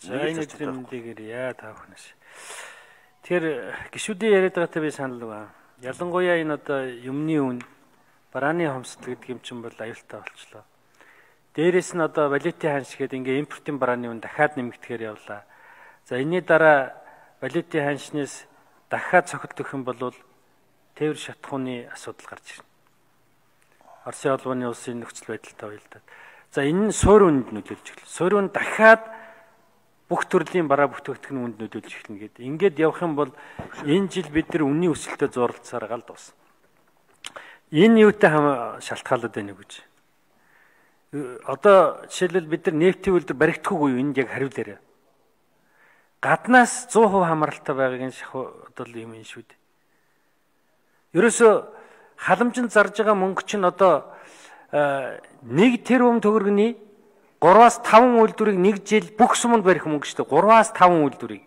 За энэ өдрийн мэндийг яа та бүхнээс. Тэгэхээр гişүүдийн яриад байгаатай би санал байна. Ялангуяа энэ одоо юмны үн барааны хомсдол гэдэг юм чинь бол аюултай болчлоо. Дээрээс нь одоо валютын ханш гэдэг ингээ импортын барааны үн дахиад нэмэгдэхээр явлаа. За энэний дараа валютын ханшнаас дахиад цохилт өгөх юм бол тээвэр шатхууны асуудал гарч ирнэ. Оросын холбооны улсын нөхцөл байдалтай уялдаад. За энэ нь суурь үнд нөлөөлж эхэлнэ. Суурь үнд дахиад бүх төрлийн бараа бүтээгдэхүүн үнд нөлөөлж эхэлнэ гэдэг. Ингээд явах юм бол энэ жил бид нар үнийн өсөлтөд зурлалцаар гал дуусна. Энэ юутай шалтгаалаад байна гэж. Одоо жишээлбэл бид нар нефтийн үйлдвэр баригдахгүй юу? Энд яг хариулаарай. Гаднаас 100% хамааралтай байгааг энэ одоо юм шүү дээ. Ерөөсө халамжинд зарж байгаа мөнгө чинь одоо 1 тэрбум төгрөгийн 3-5 үйлдвэрийг нэг жил бүх суманд барих мөнгө шүү дээ. 3-5 үйлдвэрийг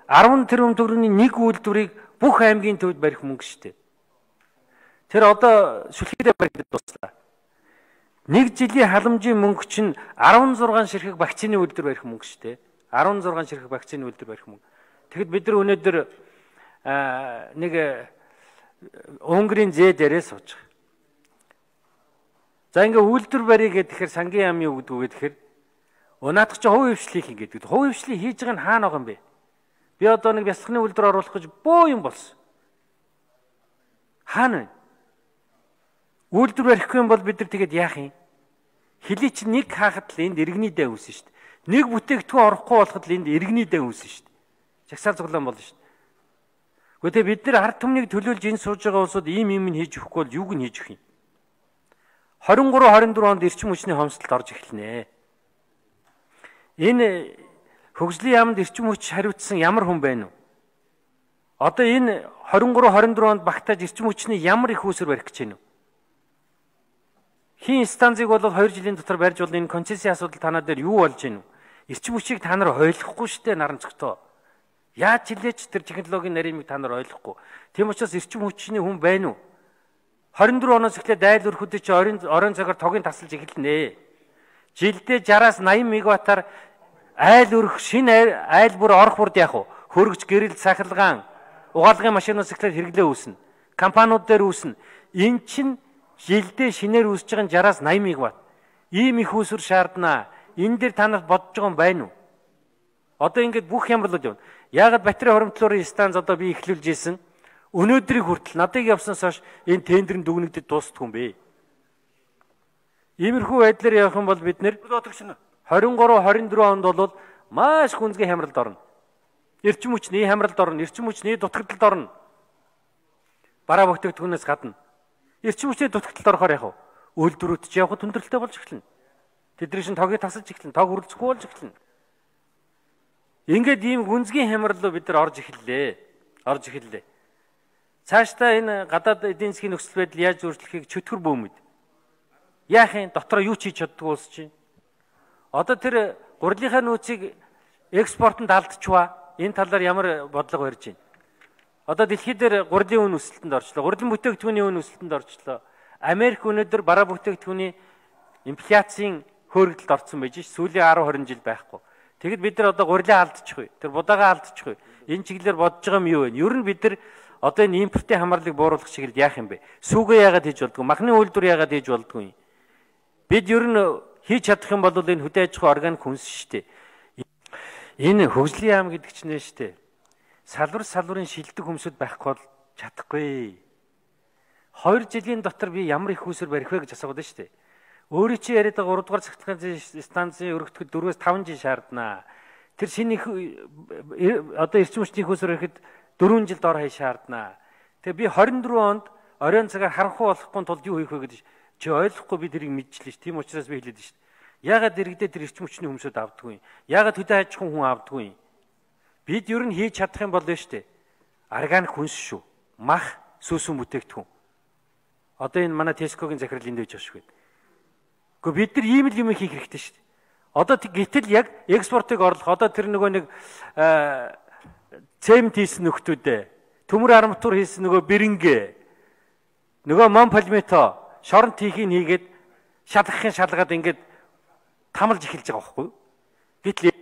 10 тэрбум төгрөгийн нэг үйлдвэрийг бүх аймгийн төвд барих мөнгө шүү дээ. Тэр одоо сүлхийдээ барих дуслаа. Нэг жилийн халамжийн мөнгө чинь 16 ширхэг вакцины үйлдвэр барих мөнгө шүү дээ. 16 ширхэг вакцины үйлдвэр барих мөнгө. Тэгэхэд бид нар өнөөдөр нэг Унгарын зээ дээрээ сууж байгаа. За ингээ үйлдвэр барья гэхээр сангийн яам юу гэдэг вэ гэхээр унаадах чи хувь хвшлийг хийгээд. Хувь хвшлийг хийж байгаа нь хаана байгаа юм бэ? Би одоо нэг бясалганы үйлдвэр оруулах гэж боо юм болсон. Хаана вэ? Үйлдвэр барихгүй юм бол бид нар тэгээд яах юм? Хилий чи нэг хаахад л энд иргэний дай үүснэ шүү дээ. Нэг бүтээгдэхүүн орохгүй болоход л энд иргэний дай үүснэ шүү дээ. Жагсаал цуглаан болно шүү дээ. Гэхдээ бид нар ард түмнийг төлөөлж энэ сууж байгаа улсууд ийм юм хийж өгөхгүй бол юуг нь хийж өгөх юм? 23-24 онд эрчим хүчний хомсдолд орж эхэлнэ. Энэ хөгжлийн яамд эрчим хүч хариуцсан ямар хүн байна вэ? Одоо энэ 23-24 онд багтааж эрчим хүчний ямар их үүсвэр барих гэж байна вэ? Хин станцыг бол 2 жилийн дотор барьж бол энэ концессийн асуудал танаа дээр юу болж байна вэ? Эрчим хүчийг та нар ойлгохгүй шүү дээ наран цогтоо. Яаж хилээч тэр технологийн нарийныг та нар ойлгохгүй. Тийм учраас эрчим хүчний хүн байна уу? 24 оноос эхлээд айл өрхөдөд чи орон цагаар тогийн тасалж эхэлнэ. Жилдээ 60-аас 80 мегаваттаар айл өрх шинэ айл бүр орох бүрд яах вэ? Хөргөж гэрэл сахилгаан угаалгын машинаас эхлээд хэрэглээ үүснэ. Компаниуд дээр үүснэ. Эн чин жилдээ шинээр үүсэж байгаа 60-аас 80 мегаватт. Ийм их үүсвэр шаарднаа. Энэ дээр та нарт бодож байгаа юм байна уу? Одоо ингээд бүх ямарлууд явна. Яагаад батарей хоримтлуурын станц одоо би эхлүүлж ийсэн? Өнөөдрийг хүртэл надыг явснаас хойш энэ тендерын дүгнэгдэд дуустдаг юм бэ. Иймэрхүү байдлаар явах юм бол бид нэр 23-24 онд бол маш хүнзгий хямралд орно. Эрчим хүчний хямралд орно, эрчим хүчний дутагдлалд орно. Бараа бүтээгдэхүүнээс гадна. Эрчим хүчний дутагдлалд орохоор яах вэ? Үйлдвэрүүд ч явхад хүндрэлтэй болж эхэлнэ. Тэдний шин тогийг тасалж эхэлнэ, тог хүрэлцэхгүй болж эхэлнэ. Ингээд ийм хүнзгий хямрал бид нар орж эхэллээ. Цаашдаа энэ гадаад эдийн засгийн нөхцөл байдал яаж өөрчлөхийг чөтгөр бөөмөд. Яах юм? Дотроо юу ч хийж чаддгүй улс чинь. Одоо тэр гурилынхаа нөөцийг экспортод алдчихва. Энэ талаар ямар бодлого барьж байна? Одоо дэлхийд дээр гурилын үн өсөлтөнд орчлоо. Гурилан бүтээгдэхүүний үн өсөлтөнд орчлоо. Америк өнөөдөр бараа бүтээгдэхүүний инфляцийн хөөргөлд орсон байж ш. Сүүлийн 10-20 жил байхгүй. Тэгэд бид нар одоо гурилаа алдчихгүй. Тэр будаагаа алдчихгүй. Энэ чиглэлээр бодож байгаа юм юу вэ? Ер нь бид нар одоо энэ импортын хамаарлыг бууруулах чиглэлд яах юм бэ? Сүүгээ яагаад хийж болдгоо? Махны үйлдвэр яагаад хийж болдгоо юм? Бид ер нь хийж чадах юм бол энэ хөдөө аж ахуй органик хүнс шүү дээ. Энэ хөгжлийн яам гэдэг чинь нэ шүү дээ. Салварын шилдэг хүмсүүд байхгүй бол чадахгүй. 2 жилийн дотор би ямар их үүсвэр барих вэ гэж асууад байна шүү дээ. Өөрөө чи яриад байгаа 3 дугаар цахилгааны станцын өргөдөхөд 4-5 жил шаарднаа. Тэр шинэ одоо эрчим хүчний үүсвэр барихад 4 жил дор хаяа шаарднаа. Тэгээ би 24 онд оройн цагаар харанхуй болохгүй тулд юу хийх вэ гэдэг чи ойлгохгүй би тэрийг мэдчихлээ ш. Тийм учраас би хэлээд ш. Яагаад иргэдээ тэр эрчим хүчний хүмсүүд авдаггүй юм? Яагаад хөдөө аж ахуйн хүн авдаггүй юм? Бид ер нь хийж чадах юм бол штэ. Органик хүнс шүү. Мах, сүүсүн бүтээгдэхүүн. Одоо энэ манай Tesco-гийн захирал энд байж байгаа шүү. Гэхдээ бид нар ийм л юм хийх хэрэгтэй штэ. Одоо гэтэл яг экспортыг орлох одоо тэр нөгөө нэг цемент хийсэн нөхдүүдээ төмөр арматур хийсэн нөгөө бэрэнгэ нөгөө монпалмето шоронт хийхийг хийгээд шалгахын шалгаад ингээд тамалж эхэлж байгаа байхгүй. Гэтэл